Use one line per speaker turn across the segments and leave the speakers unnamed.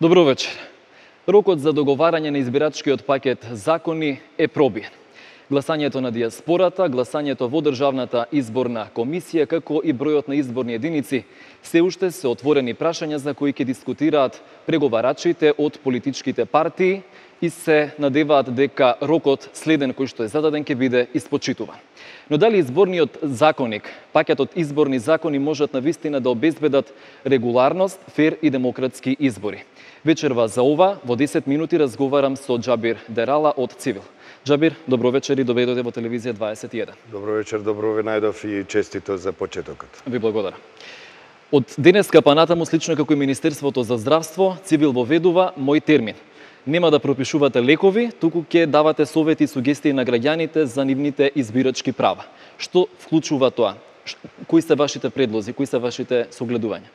Добро вечер. Рокот за договарање на избирачкиот пакет закони е пробиен. Гласањето на диаспората, гласањето во Државната изборна комисија, како и бројот на изборни единици, се уште се отворени прашања за кои ќе дискутираат преговарачите од политичките партии и се надеваат дека рокот следен кој што е зададен ќе биде испочитуван. Но дали изборниот законник, пакетот изборни закони можат навистина да обезбедат регуларност, фер и демократски избори? Вечерва за ова, во 10 минути разговарам со Џабир Дерала од Цивил. Џабир, добро вечер и добре дојде во телевизија 21.
Добро вечер, добро ве најдов и честито за почетокот.
Ви благодарам. Од денеска па натаму, слично како и Министерството за здравство, Цивил воведува мој термин. Нема да пропишувате лекови, туку ќе давате совети и сугестии на граѓаните за нивните избирачки права. Што вклучува тоа? Кои се вашите предлози, кои се вашите согледувања?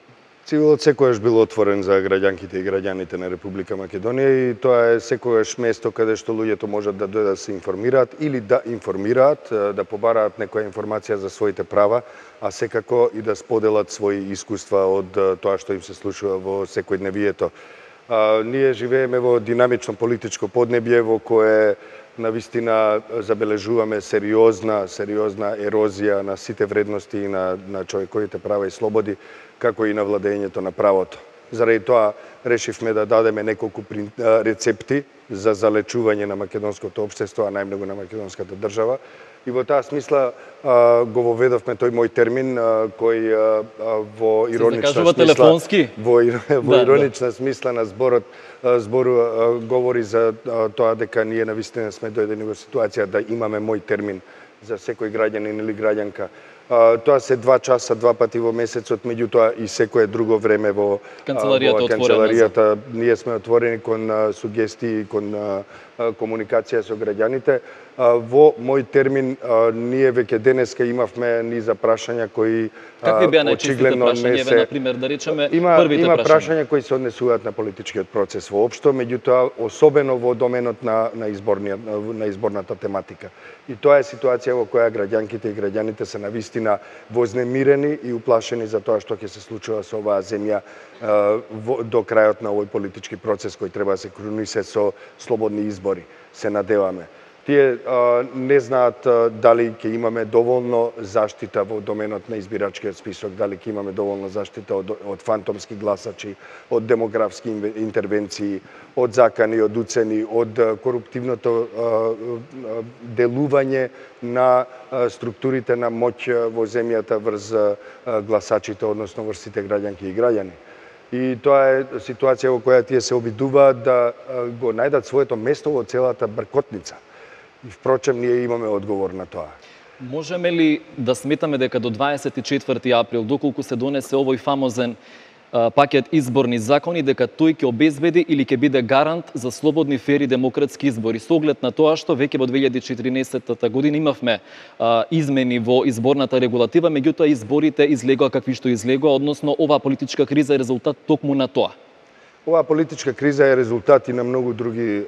Цивилот секогаш бил отворен за граѓанките и граѓаните на Република Македонија и тоа е секогаш место каде што луѓето можат да дојдат да се информираат или да информираат, да побараат некоја информација за своите права, а секако и да споделат своји искуства од тоа што им се случува во секојдневието. Ние живееме во динамично политичко поднебје во кое навистина забележуваме сериозна ерозија на сите вредности и на човековите права и слободи, како и на владењето на правото. Заради тоа решивме да дадеме неколку рецепти за залечување на македонското општество, а најмногу на македонската држава. И во таа смисла го воведовме тој мој термин кој во иронична смисла на збор говори за тоа дека ние навистина сме дојдени во ситуација да имаме мој термин за секој граѓанин или граѓанка. Тоа се 2 часа, 2 пати во месецот, меѓутоа и секое друго време во канцеларијата. Ние сме отворени кон сугестии, кон комуникација со граѓаните. Во мој термин ние веќе денеска имавме низа прашања кои
какви беа најчестите прашања, например, да речеме првите
има прашања кои се однесуваат на политичкиот процес воопшто, меѓутоа особено во доменот на изборната тематика. И тоа е ситуација во која граѓанките и граѓаните се навистина вознемирени и уплашени за тоа што ќе се случува со оваа земја до крајот на овој политички процес кој треба да се крунисе со слободни избори. Се надеваме. Тие не знаат дали ќе имаме доволно заштита во доменот на избирачкиот список, дали ќе имаме доволно заштита од фантомски гласачи, од демографски интервенции, од закани, од уцени, од коруптивното делување на структурите на моќ во земјата врз гласачите, односно врз сите граѓанки и граѓани. И тоа е ситуација во која тие се обидуваат да го најдат своето место во целата бркотница. И впрочем, ние имаме одговор на тоа.
Можеме ли да сметаме дека до 24 април, доколку се донесе овој фамозен пакет изборни закони, дека тој ќе обезбеди или ќе биде гарант за слободни, фери, демократски избори, со оглед на тоа што веќе во 2014 година имавме измени во изборната регулатива, меѓутоа изборите излегоа какви што излегоа, односно оваа политичка криза е резултат токму на тоа.
Оваа политичка криза е резултат и на многу други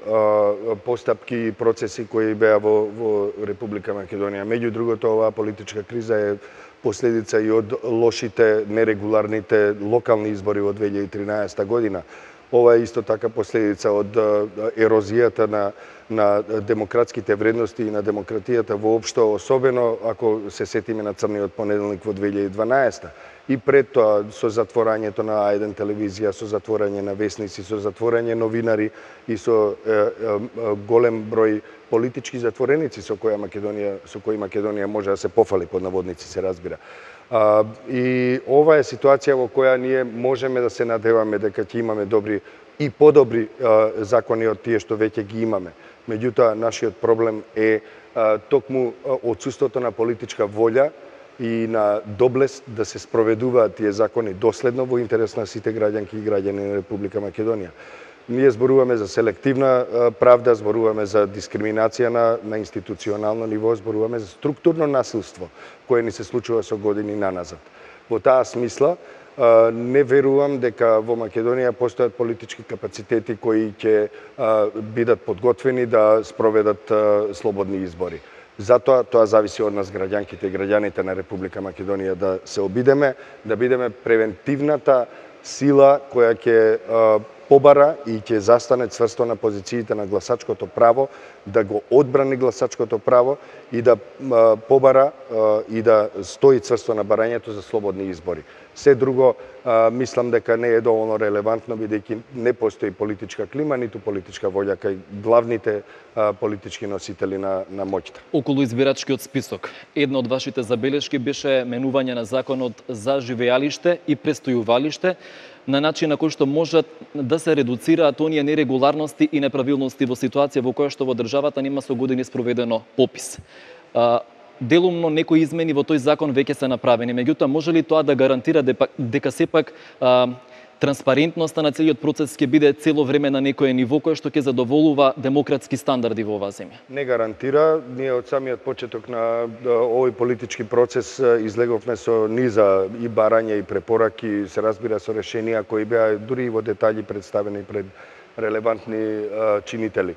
постапки и процеси кои беа во Република Македонија. Меѓу другото, оваа политичка криза е последица и од лошите, нерегуларните локални избори во 2013 година. Ова е исто така последица од ерозијата на демократските вредности и на демократијата воопшто, особено ако се сетиме на црниот понеделник во 2012. И пред тоа со затворањето на А1 телевизија, со затворање на весници, со затворање новинари и со голем број политички затвореници со кои Македонија може да се пофали, под наводници се разбира. И ова е ситуација во која ние можеме да се надеваме дека ќе имаме добри и подобри закони од тие што веќе ги имаме. Меѓутоа, нашиот проблем е токму отсуството на политичка волја и на доблест да се спроведуваат тие закони доследно во интерес на сите граѓанки и граѓани на Република Македонија. Ние зборуваме за селективна правда, зборуваме за дискриминација на институционално ниво, зборуваме за структурно насилство кое ни се случува со години наназад. Во таа смисла не верувам дека во Македонија постојат политички капацитети кои ќе бидат подготвени да спроведат слободни избори. Затоа тоа зависи од нас граѓанките и граѓаните на Република Македонија да се обидеме, да бидеме превентивната сила која ќе побара и ќе застане цврсто на позициите на гласачкото право, да го одбрани гласачкото право и да побара и да стои цврсто на барањето за слободни избори. Се друго мислам дека не е доволно релевантно, бидејќи не постои политичка клима, ниту политичка волја кај главните политички носители на моќта.
Околу избирачкиот список, една од вашите забелешки беше менување на законот за живеалиште и престојувалиште на начин на кој што можат да се редуцираат оние нерегуларности и неправилности во ситуација во која што во државата нема со години спроведено попис. Делумно некои измени во тој закон веќе се направени, меѓутоа може ли тоа да гарантира дека сепак транспарентноста на целиот процес ќе биде цело време на некое ниво кое што ќе задоволува демократски стандарди во оваа земја?
Не гарантира. Ние од самиот почеток на овој политички процес излеговме со низа и барања и препораки, се разбира со решенија кои беа дури и во детали представени пред релевантни чинители.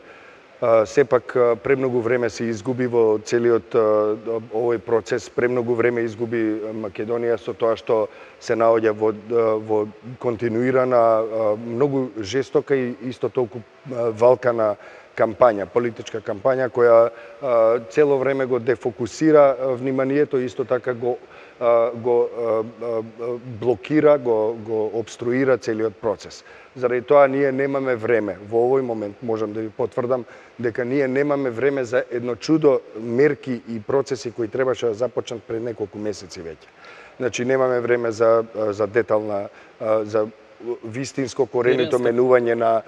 Сепак премногу време се изгуби во целиот овој процес, премногу време изгуби Македонија со тоа што се наоѓа во континуирана, многу жестока и исто толку валкана кампања, политичка кампања која цело време го дефокусира вниманието и исто така го блокира, го обструира целиот процес. Заради тоа ние немаме време. Во овој момент можам да ви потврдам дека ние немаме време за едно чудо мерки и процеси кои требаше да започнат пред неколку месеци веќе. Значи немаме време за детална, за вистинско коренито менување на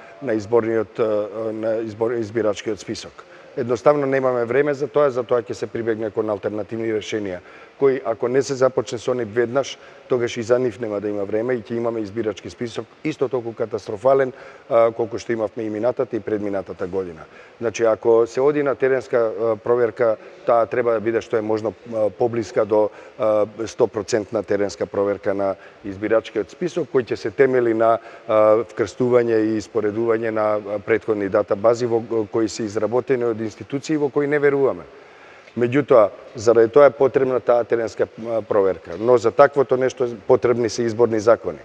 избирачкиот список. Едноставно немаме време за тоа ќе се прибегне кон алтернативни решенија, кои ако не се започне со нив веднаш, тогаш и за нив нема да има време и ќе имаме избирачки список исто толку катастрофален колку што имавме и минатата и предминатата година. Значи ако се оди на теренска проверка, таа треба да биде што е можно поблиска до 100% теренска проверка на избирачкиот список, кој ќе се темели на вкрстување и испоредување на претходни датабази кои се изработени од институции во кои не веруваме. Меѓутоа, заради тоа е потребна таа теренска проверка, но за таквото нешто потребни се изборни закони.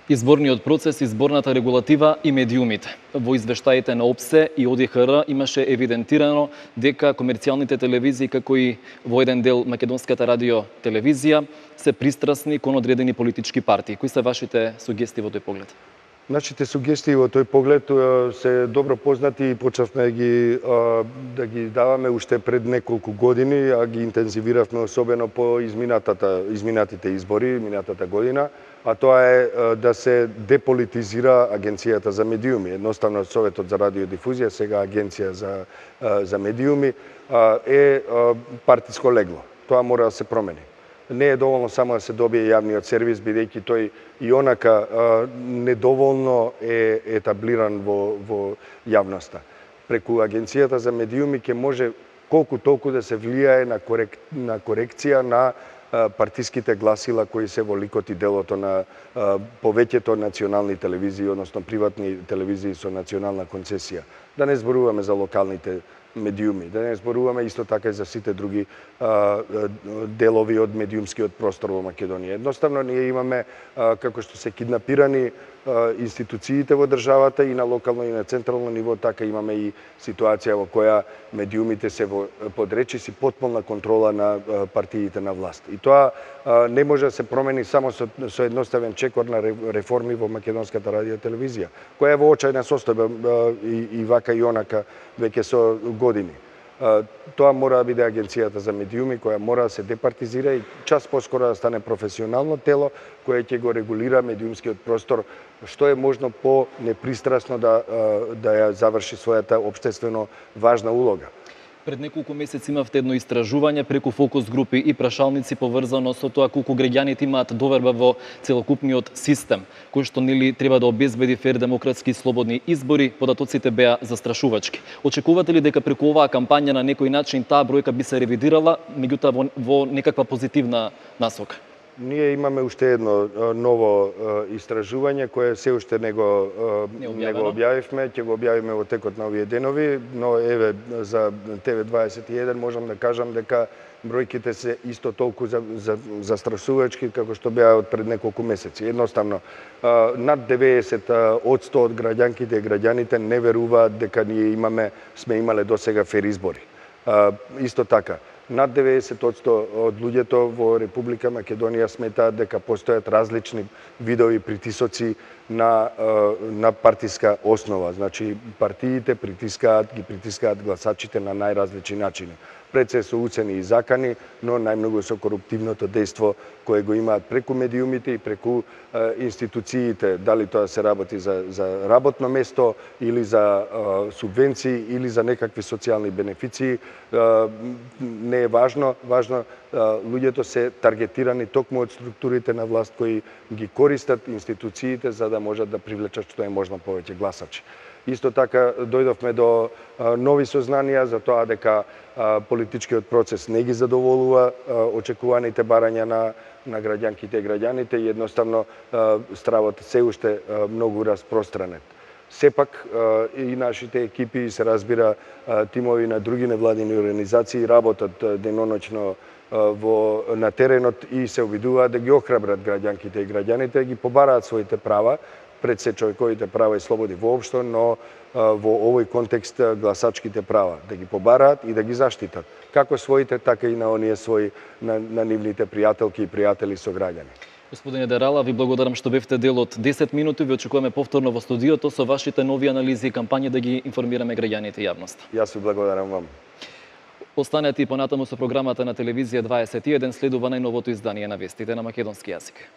Изборниот процес, изборната регулатива и медиумите. Во извештаите на ОПСЕ и ОДИХР имаше евидентирано дека комерцијалните телевизии, како и во еден дел Македонската радио телевизија, се пристрасни кон одредени политички партии. Кои се вашите сугестии во тој поглед?
Нашите сугестии во тој поглед се добро познати и почнавме да ги даваме уште пред неколку години, а ги интензивиравме особено по изминатите избори, минатата година, а тоа е да се деполитизира Агенцијата за медиуми. Едноставно Советот за радиодифузија, сега Агенција за медиуми, е партиско легло. Тоа мора да се промени. Не е доволно само да се добие јавниот сервис, бидејќи тој и онака недоволно е етаблиран во јавноста. Преку Агенцијата за медиуми ќе може колку толку да се влијае на корекција на партиските гласила кои се во ликот и делото на повеќето национални телевизии, односно приватни телевизии со национална концесија. Да не зборуваме за локалните медиуми, да не зборуваме исто така и за сите други делови од медиумскиот простор во Македонија. Едноставно ние имаме како што се киднапирани институциите во државата и на локално и на централно ниво, така имаме и ситуација во која медиумите се под речиси потполна контрола на партиите на власт. И тоа не може да се промени само со едноставен чекор на реформи во Македонската радиотелевизија, која е во очајна состојба и вака и онака веќе со години. Тоа мора да биде Агенцијата за медиуми, која мора да се департизира и час поскоро да стане професионално тело кое ќе го регулира медиумскиот простор што е можно по непристрасно да ја заврши својата општествено важна улога.
Пред неколку месеци имавте едно истражување преку фокус групи и прашалници поврзано со тоа колку граѓаните имаат доверба во целокупниот систем, кој што нели треба да обезбеди фер, демократски и слободни избори. Податоците беа застрашувачки. Очекувате ли дека преку оваа кампања на некој начин таа бројка би се ревидирала, меѓутоа во некаква позитивна насока?
Ние имаме уште едно ново истражување кое се уште не го објавивме, ќе го објавиме во текот на овие денови, но еве за ТВ21 можам да кажам дека бројките се исто толку застрасувачки како што беа од пред неколку месеци. Едноставно, над 90% од граѓанките и граѓаните не веруваат дека ние сме имале досега фер избори. Исто така, над 90% од луѓето во Република Македонија сметаат дека постојат различни видови притисоци на партиска основа. Значи, партиите ги притискаат гласачите на најразлични начини. Пред се со уцени и закани, но најмногу со коруптивното дејство кое го имаат преку медиумите и преку институциите, дали тоа се работи за работно место или за субвенции или за некакви социјални бенефиции, не е важно. Важно луѓето се таргетирани токму од структурите на власт кои ги користат институциите за да можат да привлечат што е можно повеќе гласачи. Исто така дојдовме до нови сознанија за тоа дека политичкиот процес не ги задоволува очекуваните барања на граѓанките и граѓаните и едноставно стравот се уште многу распространет. Сепак и нашите екипи, се разбира, тимови на други невладини организации работат деноноќно на теренот и се обидуваат да ги охрабрат граѓанките и граѓаните, ги побараат своите права, пред се човековите права и слободи воопшто, но во овој контекст гласачките права, да ги побараат и да ги заштитат, како своите, така и на оние своји, на нивните пријателки и пријатели со граѓани.
Господине Дерала, ви благодарам што бевте дел од 10 минути, ви очекуваме повторно во студиото со вашите нови анализи и кампањи да ги информираме граѓаните и јавноста.
Јас ви благодарам вам.
Останете и понатаму со програмата на телевизија 21, следува најновото издание на вестите на македонски јазик.